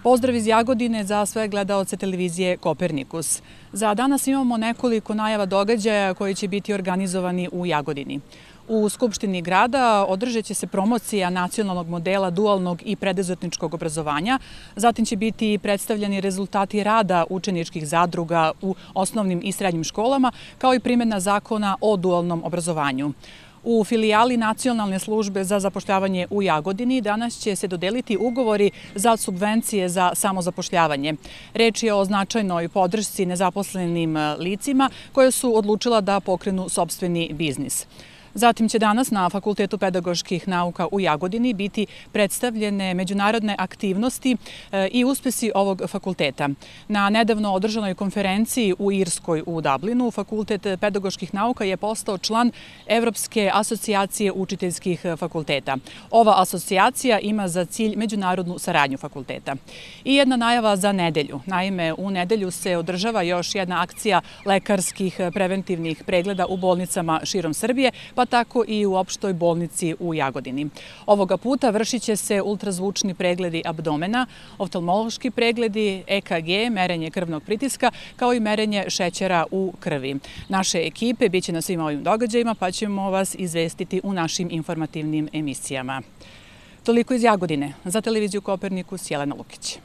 Pozdrav iz Jagodine za sve gledaoce televizije Kopernikus. Za danas imamo nekoliko najava događaja koji će biti organizovani u Jagodini. U Skupštini grada održat će se promocija nacionalnog modela dualnog i preduzetničkog obrazovanja. Zatim će biti predstavljeni rezultati rada učeničkih zadruga u osnovnim i srednjim školama, kao i primjena zakona o dualnom obrazovanju. U filijali Nacionalne službe za zapošljavanje u Jagodini danas će se dodeliti ugovori za subvencije za samozapošljavanje. Reč je o značajnoj podršci nezaposlenim licima koje su odlučila da pokrenu sopstveni biznis. Zatim će danas na Fakultetu pedagoških nauka u Jagodini biti predstavljene međunarodne aktivnosti i uspesi ovog fakulteta. Na nedavno održanoj konferenciji u Irskoj u Dublinu, Fakultet pedagoških nauka je postao član Evropske asocijacije učiteljskih fakulteta. Ova asocijacija ima za cilj međunarodnu saradnju fakulteta. I jedna najava za nedelju. Naime, u nedelju se održava još jedna akcija lekarskih preventivnih pregleda u bolnicama širom Srbije, pa tako i u opštoj bolnici u Jagodini. Ovoga puta vršit će se ultrazvučni pregledi abdomena, oftalmološki pregledi, EKG, merenje krvnog pritiska, kao i merenje šećera u krvi. Naše ekipe biće na svim ovim događajima, pa ćemo vas izvestiti u našim informativnim emisijama. Toliko iz Jagodine. Za televiziju Kopernikus, Jelena Lukić.